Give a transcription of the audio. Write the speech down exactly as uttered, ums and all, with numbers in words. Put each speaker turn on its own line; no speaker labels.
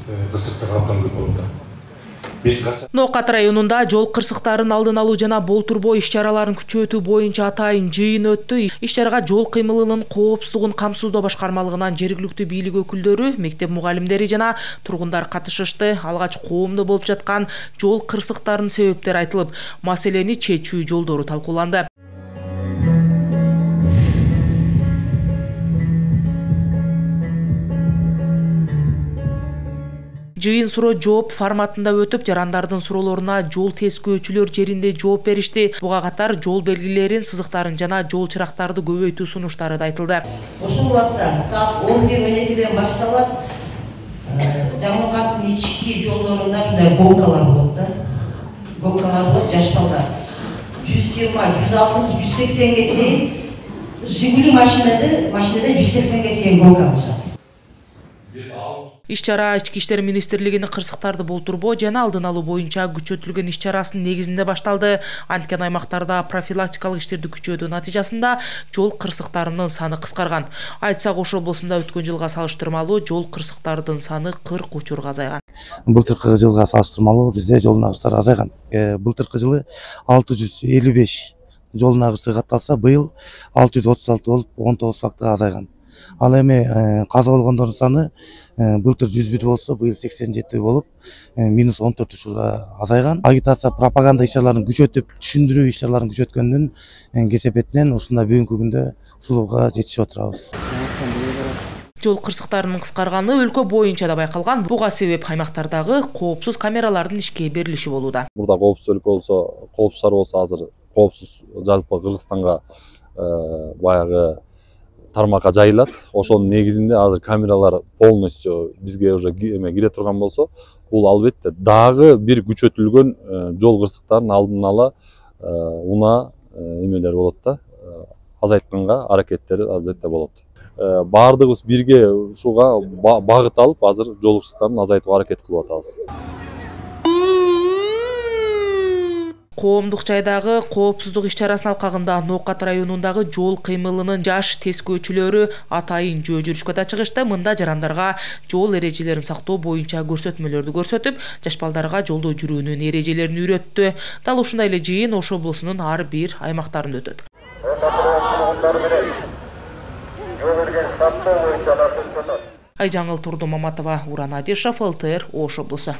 Кырсыктар абдан көп болот.
Ноокат районунда жол кырсыктарын алдын алуу жана болтурбоо иш-чараларын күчөтүү боюнча атайын жыйын өттү. Иш-чарага жол кыймылынын коопсуздугун камсыздоо башкармалыгынан жергиликтүү бийлик өкүлдөрү, мектеп мугалимдери жана тургундар катышышты. Алгач коомдо болуп жаткан жол кырсыктарынын себептери айтылып, маселени чечүү жолдору талкууланды. Жыйын суроо жооп форматында өтүп, жарандардын суроолоруна жол тескөөчүлөр жеринде жооп беришти. Буга катар жол белгилерин, сызыктарын жана жол чырактарды көбөйтүү сунуштары да айтылды.
Ошол убакта саат он бир он экиден башталат. Жамалкаттын ички жолдорунда ушундай голкалар болот да. Голкалар болот, жаш балдар. жүз жыйырма, жүз алтымыш, жүз сексенге чейин Жигули машинада, машинада жүз сексенге чейин голка алышат.
Иш-чара Ички иштер министрлигинин кырсыктарды болтурбоо жана алдын алуу боюнча күчөтүлгөн иш-чарасынын негизинде башталды. Анткен аймактарда профилактикалык иштерди күчөтүү натыйжасында жол кырсыктарынын саны кыскарган. Айтсак, Ош облусунда өткөн жылга салыштырмалуу жол кырсыктарынын саны кырк учурга азайган.
Былтыркы жылга салыштырмалуу бизде жол нагыштары азайган. Былтыркы жылы алты жүз элүү беш жол нагышы катталса, быйыл алты жүз отуз алты болуп, он тогуз фактыга азайган. Ал эми каза болгондордун саны былтыр жүз бир болсо, быйыл сексен жети болуп, минус он төрт учурга азайган. Агитация, пропаганда иш-чараларын күчөтүп, түшүндүрүү иш-чараларын күчөткөндүн кесепетинен ушундай бүгүнкү күндө ушулга жетишип отурабыз.
Жол кырсыктарынын кыскарганы өлкө боюнча да байкалган. Буга себеп аймактардагы коопсуз камералардын ишке берилиши болууда.
Бурда коопсуз өлкө болсо, коопсуз шаар болсо, азыр коопсуз жалпы Кыргызстанга баягы тармакка жайылат. Ошонун негизинде азыр камералар полностью бизге уже эме кире турган болсо, бул албетте дагы бир күчөтүлгөн жол кырсыктарын алдын ала унаа эмелер болот да, азайтканга аракеттери албетте болот. Баардыгыбыз бирге ушуга багыт алып, азыр жол кырсыктарын азайтууга аракет кылып атабыз.
Коомдук жайдагы коопсуздук иш-чарасынын алкагында Ноокат районундагы жол кыймылынын жаш тескөөчүлөрү атайын жөө жүрүшкө да чыгышты. Мында жарандарга жол эрежелерин сактоо боюнча көрсөтмөлөрдү көрсөтүп, жаш балдарга жолдо жүрүүнүн эрежелерин үйрөттү. Дал ушундай эле жыйын Ош облусунун ар бир аймактарында өтөт. Айжаңыл Турду Маматова, Уран Адишев, эл тэ эр, Ош облусу.